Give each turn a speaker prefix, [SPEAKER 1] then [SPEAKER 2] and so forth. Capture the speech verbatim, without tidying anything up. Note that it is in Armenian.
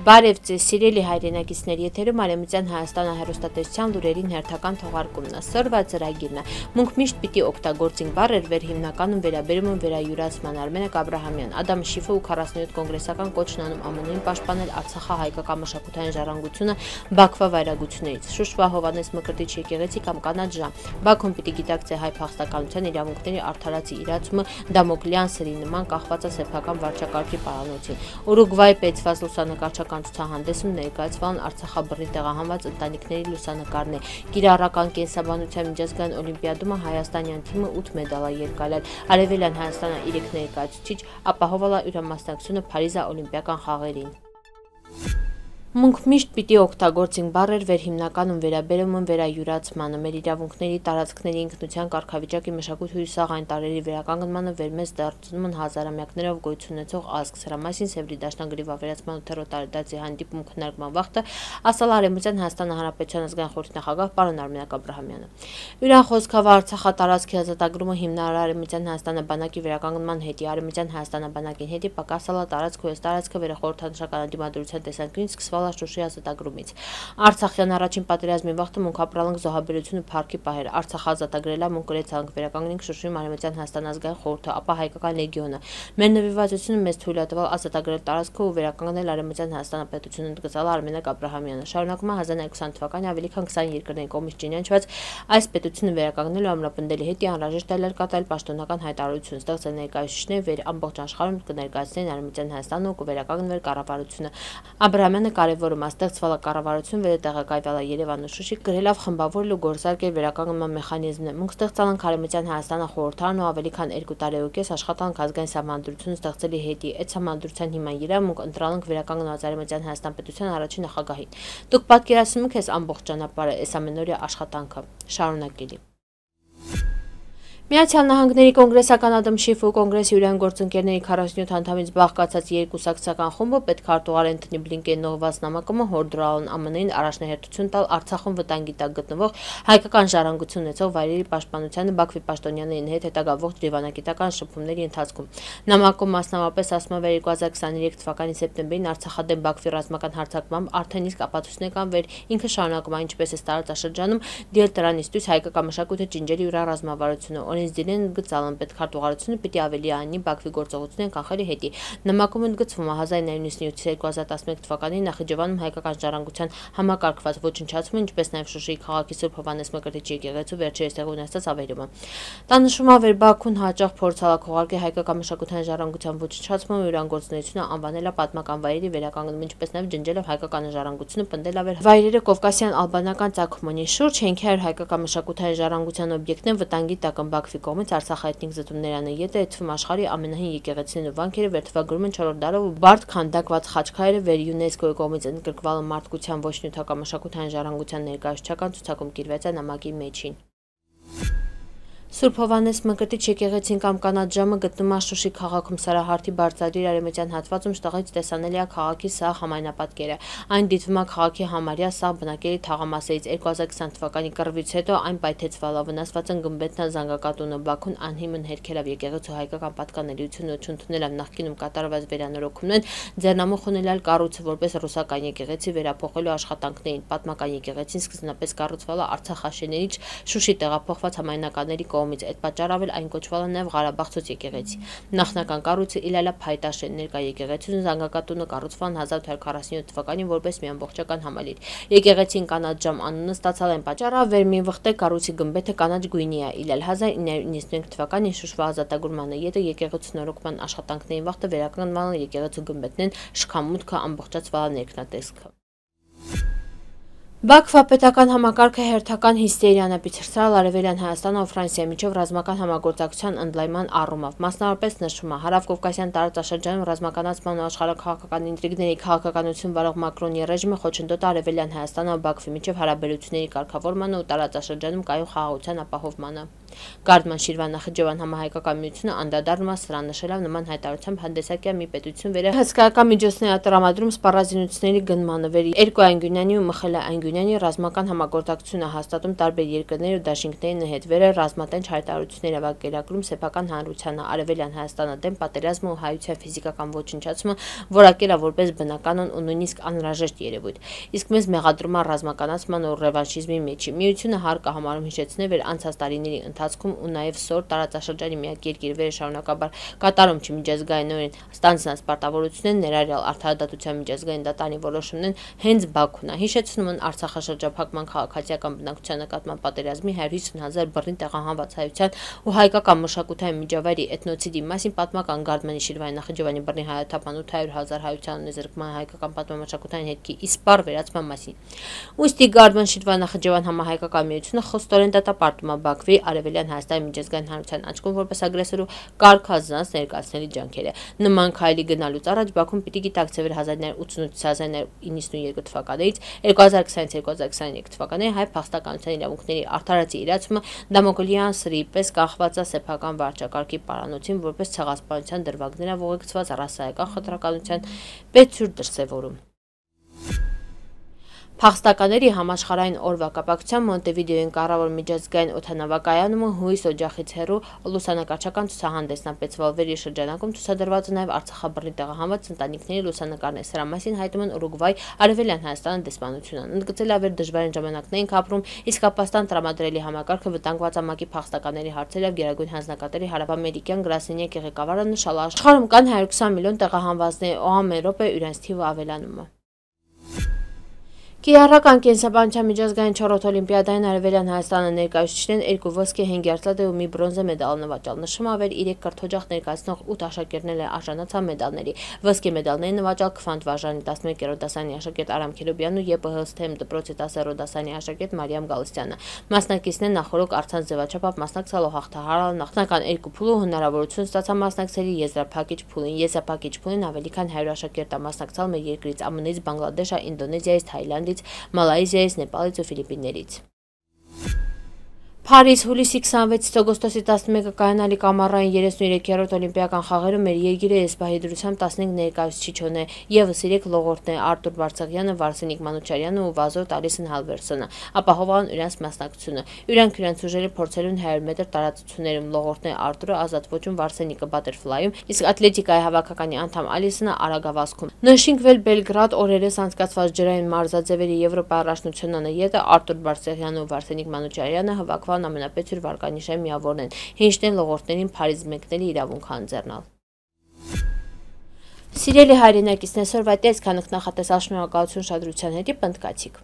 [SPEAKER 1] Բարև ձեզ, սիրելի հայրենակիցներ, եթերում Արևմտյան Հայաստանը հեռուստատեսության լուրերին հերթական թողարկումն է։ Սրվա ծրագիրն է։ Մունք միշտ պիտի օգտագործենք բառեր վեր հիմնականում վերաբերում են վերայուրացման։ Արմենակ Աբրահամյան, Ադամ Շիֆը ու քառասունյոթ կոնգրեսական կոչն անում ԱՄՆ-ին պաշտպանել Արցախահայկական մշակութային ժառանգությունը Բաքվա վայրագություններից։ Շուշվա Հովհաննես Մկրտիչ եկեղեցի կամ կանաչ ժամ։ Բաքուն պիտի գիտակցի հայ փախստականության իրավունքների արդարացի իրացումը Դամոկլյան սրի նման կախված է սեփական վարչակարգի պարանոցին։ Ուրուգվայի պետված լուսանկարչական ցուցահանդեսում ներկայացվան Արցախաբռի տեղահանված ընտանիքների լուսանկարներ։ Կիրառական կենսաբանության միջազգային օլիմպիադում հայաստանյան թիմը ութ մեդալ է երկալել։ Արևելյան Հայաստանը երեք ներկայացուցիչ ապահովել է յուրամասնակցությունը Փարիզի օլիմպիական խաղերին։ Մունք միշտ պիտի օգտագործենք բառեր վեր հիմնականում վերաբերում են վերայուրացմանը, մեր իրավունքների, տարածքների ինքնության կարգավիճակի մշակույթի հյուսող այն տարրերի վերականգնմանը վեր մեզ դարձնում են հազարամյակներով գոյություն ունեցող ազգ։ Սրա մասին Սևրի դաշնագրի վավերացման ութերորդ տարեդարձի հանդիպում քննարկման վաղտը ասալ Արևմտյան Հայաստանի Հանրապետության ազգային խորհրդի նախագահ պարոն Արմենակ Աբրահամյանը։ Յուրան խոսքով Արցախատարածքի ազատագրումը հիմնարար Արևմտյան Հայաստանի բանակի վերականգնման հետի Արևմտյան Հայաստանի բանակին հետի պակասալա տարածք ու այս տարածքը վերախորհրդանշական դիմադրության տեսանկյունից սկսվել Շուշի ազատագրումից։ Արցախյան առաջին պատերազմի վաղտը մունք ապրալանք զոհաբերությունը փառքի պահեր։ Արցախ ազատագրելա մունք գրեցանք վերականգնենք Շուշիում Արևմտյան Հայաստան ազգային խորհուրդը, ապա հայկական լեգիոնը։ Մեր նվիրվածությունը մեզ թույլ է տվել ազատագրել տարածքը ու վերականգնել Արևմտյան Հայաստան պետությունը, ընդգծել Արմենակ Աբրահամյանը։ Շարունակում է հազար նոյ քսան թվականի ավելի քան քսան երկրների կողմից ճանաչված այս պետությունը վերականգնելու ամրապնդելի հետի անհրաժեշտ է կատարել պաշտոնական հայտարարություն, ստեղծել ներկայացուցիչներ վեր ամբողջ աշխարհում կներկայացնեն Արևմտյան Հայաստանը ու կվերականգնվեր կառավարությունը։ Աբրահամյանը կարևորում է ստեղծվելը կառավարություն վերտեղակայվել է Երևանը Շուշի գրելով խմբավորել ու գործարկել վերականգնման մեխանիզմներ։ Մունք ստեղծել են Արևմտյան Հայաստանը խորհրդարան ու ավելի քան երկու տարի ու կես աշխատանք ազգային սահմանադրություն ստեղծելի հետի։ Այդ սահմանադրության հիման վրա մունք ընտրել ենք վերականգնված Արևմտյան Հայաստան պետության առաջին նախագահին։ Դուք պատկերացնում եք այս ամբողջ ճանապարհը, այս ամենօրյա աշխատանքը շարունակելի։ Միացյալ Նահանգների կոնգրեսական Ադամ Շիֆը ու կոնգրեսի յուրային գործընկերների քառասունյոթ անդամից բաղկացած երկուսակցական խումբը պետքարտուղար Էնթոնի Բլինկենի ուղղված նամակումը հորդորել են ԱՄՆ-ին առաջնահերթություն տալ Արցախում վտանգի տակ գտնվող հայկական ժառանգություն ունեցող վայրերի պաշտպանությանը Բաքվի պաշտոնյաների հետ հետագա ողջ դիվանագիտական շփումների ընթացքում։ Նամակում մասնավորապես ասում է երկու հազար քսաներեք թվականի սեպտեմբերին Արցախադեմ Բաքվի ռազմական հարձակմամբ արդեն իսկ ապացույցներ կան վեր ինքը շարունակում է ինչպես է տարածաշրջանում դիել դրանից դուրս հայկական մշակույթը ջինջերի յուրա ռազմավարությունը Դիրեն գծալն պետքարտուղարությունը պիտի ավելի անի Բաքվի գործողություններին կանխելի հետի։ Նամակում ընդգծվում է հազար նոյ նույնիսկ երկու հազար տասնմեկ թվականին Նախիջևանում հայկական ժառանգության համակարգված ոչնչացումը, ինչպես նաև Շուշիի քաղաքի Սուրբ Հովհաննես Մկրտիչ եկեղեցու վերջերս տեղի ունեցած ավերումը։ Տանշում է վեր Բաքուն հաճախ փորձալ քողարկել հայկական մշակութային ժառանգության ոչնչացումը ու իրան գործունեությունը անվանել է պատմական վայրերի վերականգնում, ինչպես նաև ջնջելով հայկական ժառանգությունը պնդել ավեր վայրերը կովկասյան ալբանական ծագումի շուրջ հենքեր հայկական մշակութային ժառանգության օբյեկտներ վտանգի տակ են Բաքվի կողմից Արցախի էթնիկ զտումներանը յետը այդվում աշխարհի ամենահին եկեղեցիներն ու վանքերը վերթվագրում են չորրորդ դարով ու բարդ քանդակված խաչքարերը վեր ՅՈՒՆԵՍԿՕ-ի կողմից ընդգրկվալը մարդկության ոչ նյութական մշակութային ժառանգության ներկայացուցչական ցուցակում կիրված է նամակի մեջին։ Սուրբ Հովհաննես Մկրտիչ եկեղեցին կամ կանաչ ժամը գտնվում է Շուշի քաղաքում Սարահարթի բարձրադիր արևմտյան հատվածում շտեղից տեսանելի է քաղաքի սաղ համայնապատկերը։ Այն դիտվում է քաղաքի համարյա սաղ բնակելի թաղամասերից երկու հազար քսան թվականի կռվից հետո այն պայթեցվել է, վնասված են գմբեթն ու զանգակատունը, Բաքուն անհիմն հերքել է եկեղեցու հայկական պատկանելիությունը չընդունել է նախկինում կատարված վերանորոգումներն, ձեռնամուխ ունենալ կառույցը որպես ռուսական եկեղեցի վերափոխելու աշխատանքներին։ Պատմական եկեղեցին սկզբնապես կառուցվել է արցախաշեներից Շուշի տեղափոխված համայնականների կողմից, այդ պատճառով էլ այն կոչվել է նաև Ղարաբաղցոց եկեղեցի։ Նախնական կառույցը Իլալա Փայտաշեն, ներկա եկեղեցին զանգակատունը կառուցվել են հազար ութ հարյուր քառասունյոթ թվականին որպես մի ամբողջական համալիր։ Եկեղեցին կանաչ ժամ անունը ստացալ են պատճառով վեր մի վխտե կառույցի գմբեթը կանաչ գույնի է։ Իլալ հազար ինը հարյուր նույնիսկ մեկ թվականին Շուշվա ազատագրման յետը եկեղեցու նորոգման աշխատանքների վաղտը վերականգնվել են եկեղեցու գմբեթներն շքամուտքը ամբողջացվել է ներքնատեսքը։ Բաքվա պետական համակարգը հերթական հիստերիան է բարձրացրել Արևելյան Հայաստանը ու Ֆրանսիայի միջև ռազմական համագործակցության ընդլայնման առումով։ Մասնավորապես նշվում է հարավկովկասյան տարածաշրջանում ռազմականացման ու աշխարհաքաղաքական ինտրիգների քաղաքականություն վարող Մակրոնի ռեժիմը խոչընդոտ Արևելյան Հայաստանը ու Բաքվի միջև հարաբերությունների կարգավորմանը ու տարածաշրջանում կայուն խաղաղության ապահովմանը։ Գարդման Շիրվան-Նախիջևան համահայկական միությունը անդրադառնում է սրան, նշելով նման հայտարարությամբ հանդեսակյա մի պետություն վեր է հսկայական միջոցներ տրամադրում սպառազինությունների գնմանը վեր երկու Անգյունյանի ու Մխելա Անգյունյանի ռազմական համագործակցությունը հաստատում տարբեր երկրների ու դաշինքների հետ վեր է ռազմատենչ հայտարարություններ ավագերակրում սեփական հանրությանը արևելյան Հայաստանը դեմ պատերազմը ու հայության ֆիզիկական ոչնչացումը որակել է որպես բնականon ու նույնիսկ անհրաժեշտ երևույթ, իսկ մեզ մեղադրում է ռազմականացման ու ռևանշիզմի մեջի։ Միությունը հարկ է համարում հիշեցնել, որ անցած տարիների ընթացքում ու նաև սոր տարածաշրջանի միակ երկիր վեր շարունակաբար կատարում չմիջազգայինորեն ստանձնած պարտավորություններ ներառյալ արդարադատության միջազգային դատարանի որոշումներն հենց Բաքուն է։ Հիշեցնում են Արցախաշրջափակման քաղաքացիական բնակչության նկատմամբ պատերազմի հարյուր հիսուն հազար բռնի տեղահանված հայության ու հայկական մշակութային միջավայրի էթնոցիդի մասին պատմական Գարդմանի Շիրվանի-Նախիջևանի բռնի հայաթափան ութ հարյուր հազար հայության ունեզրկման հայկական պատմամշակութային հետքի իսպառ վերացման մասին։ Ուստի Գարդման Շիրվան-Նախիջևան համահայկական միությունը խստորեն դատապարտում է Բաքվի արևելյան Հայաստանի միջազգային հանրության աչքում որպես ագրեսոր ու կարգազանց ներկայացնելի ջանքերը։ Նման քայլի գնալուց առաջ Բաքուն պիտի գիտակցեր, որ հազար նոյ ութսունութ - հազար նոյ իննսունյոթ թվականներից երկու հազար քսանից երկու հազար քսաներեք թվականների հայ փախստականության իրավունքների արդարացի իրացումը Դամոկլյան սրի պես կախված է սեփական վարչակարգի պարանոցին որպես ցեղասպանության դրվագներով ուղեկցված ռասայական խտրականության պետցուր դրսևորում։ Փախստականների համաշխարհային օրվա կապակցությամբ Մոնտեվիդեոյի կառավար միջազգային օդանավակայանում հույս օջախից հեռու լուսանկարչական ցուցահանդեսն ապեցվել վերի շրջանակում ցուցադրված է նաև Արցախաբռնի տեղահանված ընտանիքների լուսանկարներ։ Սրա մասին հայտնում են Ուրուգվայ, Արևելյան Հայաստան դեսպանությունը։ Ընդգծել է, որ դժվարին ժամանակներ ենք ապրում, իսկ ապաստան տրամադրելի համակարգը վտանգված է ՄԱԿ-ի փախստականների հարցերով Գերագույն հանձնակատարի հարավամերիկյան գրասենյակի ղեկավարը նշել է, աշխարհում կան հարյուր քսան միլիոն տեղահանվածներ, ամեն րոպե իրանց թիվը ավելանում է։ Կիրառական կենսաբանության միջազգային չորրորդ օլիմպիադային արևելյան Հայաստանը ներկայացուցիչներն երկու ոսկե, հինգ երզլատ ու մի բրոնզե մեդալ նվաճել։ Նշվում է, որ երեք կրթօջախ ներկայացնող ութ աշակերտներ արժանացան մեդալների։ Ոսկե մեդալները նվաճել Քվանտ Վարժանի տասնմեկերորդ դասարանի աշակերտ Արամ Քելոբյանն ու ԵՊՀ-ՍԹԵՄ դպրոցի տասներորդ դասարանի աշակերտ Մարիամ Գալստյանը։ Մասնակիցներն նախորոք առցանց ձևաչափով մասնակցելով հաղթահարել նախնական երկու փուլը հնարավորություն ստացան մասնակցելի եզրափակիչ փուլին։ Եզրափակիչ փուլին ավելի քան հարյուր աշակերտ է մասնակցել մեր երկրից՝ ԱՄՆ-ից, Բանգլադեշ, Ինդոնեզիայից, Թայլանդից, Մալայզիայից, Նեպալից ու Ֆիլիպիններից։ Փարիզ հուլիսի քսանվեցից օգոստոսի տասնմեկը կայանալի կամարային երեսուններեքերորդ օլիմպիական խաղերում մեր երկիրը ԵՍՊԱ-ի դրությամբ տասնհինգ ներկայացուցիչ ունի, ևս երեք լողորդներ Արտուր Բարսեղյանը, Վարսենիկ Մանուչարյանը ու Վազո Տալիսն Հալվերսոնը ապահոvan իրենց մասնակցությունը։ Իրանք իրենց ուժերը փորձելուն հարյուր մետր տարածություններում լողորդներ Արտուրը ազատ ոճում, Վարսենիկը բատերֆլայում, իսկ ատլետիկայի հավաքականի անդամ Ալիսոնը արագավազքում։ Նշինքվել Բելգրադ օրերս անցկացված ջրային մարզաձևերի Եվրոպա առաջնությունն ետը Արտուր Բարսեղյանը ու Վարսենիկ Մանուչարյանը հավաքված ամենապետուր վարկանիշային միավորն են, հինչն լողորդներին Փարիզ մեկնելի իրավունք հանձեռնալ։ Սիրելի հայրենակիցներ, այսօրվա դեպք նախատեսած շնորհակալություն շադրության հետի պնդկացիք։